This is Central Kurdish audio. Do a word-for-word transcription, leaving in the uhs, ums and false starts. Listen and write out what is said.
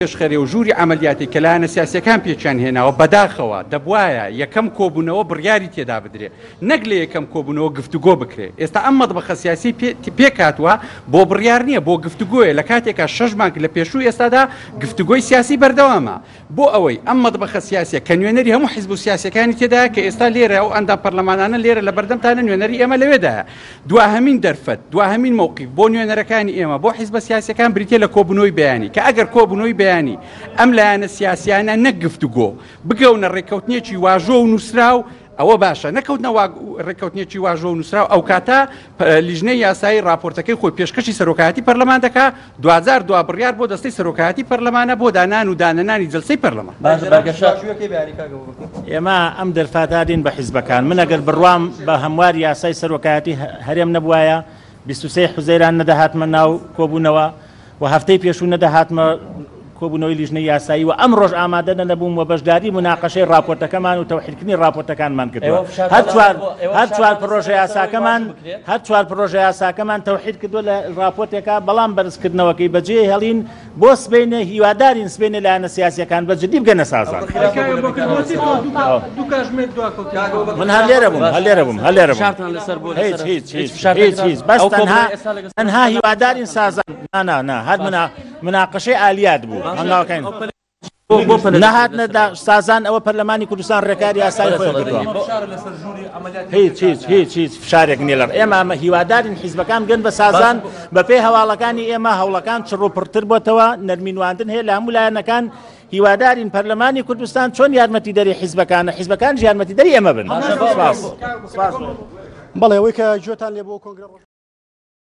پێشخەرێ و ژووری عەمەلیاتی کە لایەنە سیاسیەکان پێکیان هێناوە، بەداخەوە دەبوایە یەکەم کۆبوونەوە بڕیاری تێدا بدرێ، نەک لە یەکەم کۆبوونەوە گفتوگۆ بکرێ. ئێستا ئەم مەطبەخە سیاسی پێکهاتووە بۆ بڕیار نییە، بۆ گفتوگۆیە، لە کاتێکا شەش مانگ لە پێشوو ئێستادا گفتوگۆی سیاسی بەردەوامە. بۆ ئەوەی ئەم مەطبەخە سیاسیە کە نوێنەری هەموو حیزب و سیاسیەکانی تێدایە کە ئێستا لێرە ئەو ئەندام پەرلەمانانە لێرە لە بەردەمتانە، نوێنەری ئێمە لەوێدایە. دواهەمین دەرفەت، دواهەمین مەوقیف بۆ نوێنەرەکانی ئێمە، بۆ حیزبە سیاسیەکان بریتیە لە کۆبوونەوەی بەیانی، کە ئەگەر کۆبوونەوەی بەیانی ئەم لایەنە سیاسیانە نەک گفتوگۆ بگەونە ڕێککەوتنێکی واژۆ و نووسراو، ئەوە باشە، نەکەوتنە ڕێککەوتنێکی واژۆ و نووسراو، ئەو کاتە لیژنەی یاسایی راپۆرتەکەی خۆی پێشکەشی سەرۆکایەتی پەرلەمان دەکا، دواجار دوا بڕیار بۆ دەستەی سەرۆکایەتی پەرلەمانە بۆ دانان و دانەنانی جلسەی پەرلەمان. ئێمە ئەم دەرفاتادین بە حیزبەکان. من ئەگەر بڕوام بە هەموار یاسای سەرۆکایەتی هەرێم نەبوایە، بیست و سێ حوزەیران نەدەهاتمە ناو کۆبوونەوە و هەفتەی پێشوو نەدەهاتمە کۆبوونەوەی لیژنەی یاسایی و ئەم ڕۆژ ئامادە نەبووم و بەشداری مناقەشەی راپۆرتەکەمان و تەوحیدکردنی راپۆرتەکانمان کردووە. هەر چوار پرۆژە یاساکەمان هەر چوار پرۆژە یاساکەمان تەوحید کردووە لە راپۆرتێکا، بەڵام بەرزکردنەوەکەی بەجێ هێڵین بۆ سبەینێ. هیوادارین سبەینێ لایەنە سیاسیەکان بە جدی بگەنە سازان. من هەر لێرە بووم، هەر لێرە بووم، هەر لێرە بووم. هیچ هیچ هیچ هیچ هیچ بەس تەنها تەنها هیوادارین سازان. نا نا نا، هەر مناقەشەی ئالیات بوو. هەنگاوەکەین نەهاتنە سازان، ئەوە پەرلەمانی کوردستان ڕێکاری یاسایی خۆی کردووە. هیچ هیچ هیچ هیچ فشارێک نییە لە ئێمە. ئەمە هیوادارین حیزبەکان بگەن بە سازان. بەپێی هەواڵەکانی ئێمە هەوڵەکان چڕ و پڕتر بۆتەوە، نەرمینواندن هەیە لە هەموو لایەنەکان. هیوادارین پەرلەمانی کوردستان چۆن یارمەتیدەری حیزبەکانە، حیزبەکان یارمەتیدەری ئێمە بن. بەڵێ، ئەوەی کە گوێتان لێ بۆ کۆنگرە